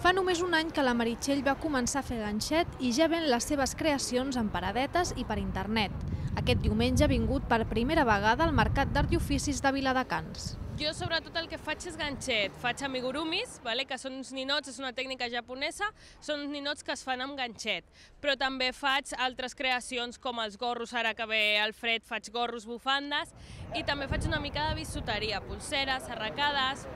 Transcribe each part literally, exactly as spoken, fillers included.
Fa només un any que la Meritxell va començar a fer ganxet i ja ven les seves creacions en paradetes i per internet. Aquest diumenge ha vingut per primera vegada al Mercat d'Art i Oficis de Viladecans. Jo sobretot el que faig és ganxet, faig amigurumis, que són uns ninots, és una tècnica japonesa, són uns ninots que es fan amb ganxet, però també faig altres creacions com els gorros, ara que ve el fred faig gorros, bufandes, i també faig una mica de bisuteria, pulseres, arracades,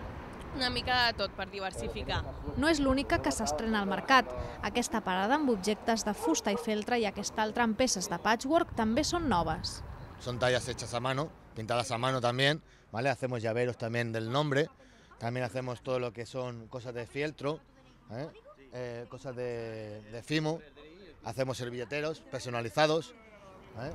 una mica de tot per diversificar. No és l'única que s'estrena al mercat. Aquesta parada amb objectes de fusta i feltre i aquesta altra amb peces de patchwork també són noves. Son tallas hechas a mano, pintadas a mano también, ¿vale? Hacemos llaveros también del nombre, también hacemos todo lo que son cosas de fieltro, ¿eh? Eh, cosas de, de fimo, hacemos servilleteros personalizados, ¿eh?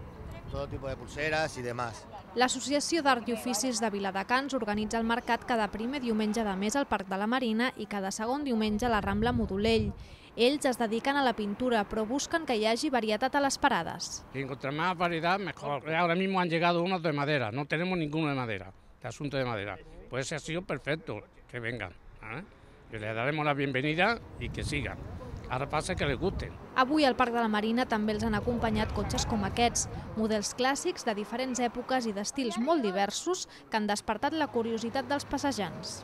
Todo tipo de pulseras i demás. L'Associació d'Art i Oficis de Viladecans organitza el mercat cada primer diumenge de mes al Parc de la Marina i cada segon diumenge a la Rambla Modolell. Ells es dediquen a la pintura, però busquen que hi hagi varietat a les parades. Si encontrar más variedad, mejor. Ahora mismo han llegado unos de madera, no tenemos ninguno de madera, de asunto de madera. Pues ese ha sido perfecto, que vengan. ¿eh? Y les daremos la bienvenida y que sigan. Ara passa que les gusten. Avui al Parc de la Marina també els han acompanyat cotxes com aquests, models clàssics de diferents èpoques i d'estils molt diversos que han despertat la curiositat dels passejants.